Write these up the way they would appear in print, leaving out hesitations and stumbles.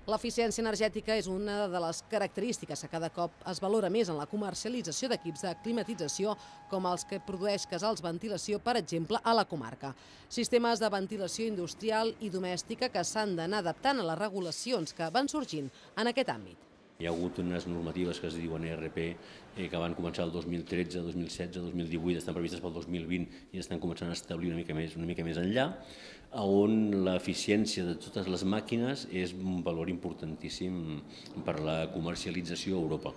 L'eficiència energètica és una de les característiques que cada cop es valora més en la comercialització d'equips de climatització com els que produeix Casals Ventilació, per exemple, a la comarca. Sistemes de ventilació industrial i domèstica que s'han d'anar adaptant a les regulacions que van sorgint en aquest àmbit. Hi ha hagut unes normatives que es diuen ERP que van començar el 2013, 2016, 2018, estan previstes pel 2020 i estan començant a establir una mica més enllà, on l'eficiència de totes les màquines és un valor importantíssim per la comercialització a Europa.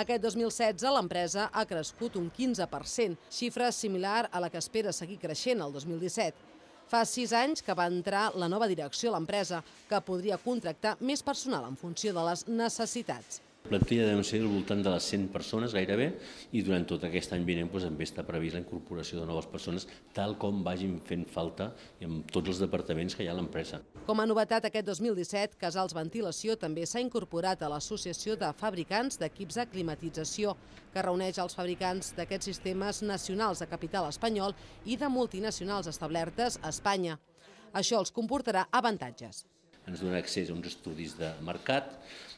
Aquest 2016 l'empresa ha crescut un 15%, xifra similar a la que espera seguir creixent el 2017. Fa 6 anys que va entrar la nova direcció a l'empresa, que podria contractar més personal en funció de les necessitats. La plantilla deu ser al voltant de les 100 persones gairebé i durant tot aquest any vinent també està previst la incorporació de noves persones tal com vagin fent falta en tots els departaments que hi ha a l'empresa. Com a novetat aquest 2017, Casals Ventilació també s'ha incorporat a l'Associació de Fabricants d'Equips de Climatització, que reuneix els fabricants d'aquests sistemes nacionals de capital espanyol i de multinacionals establertes a Espanya. Això els comportarà avantatges. Ens dona accés a uns estudis de mercat,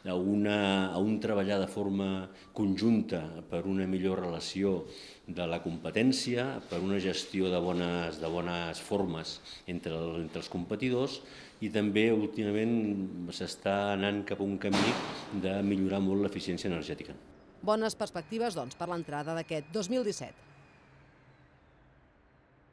a un treballar de forma conjunta per una millor relació de la competència, per una gestió de bones formes entre els competidors i també últimament s'està anant cap a un camí de millorar molt l'eficiència energètica. Bones perspectives, doncs, per l'entrada d'aquest 2017.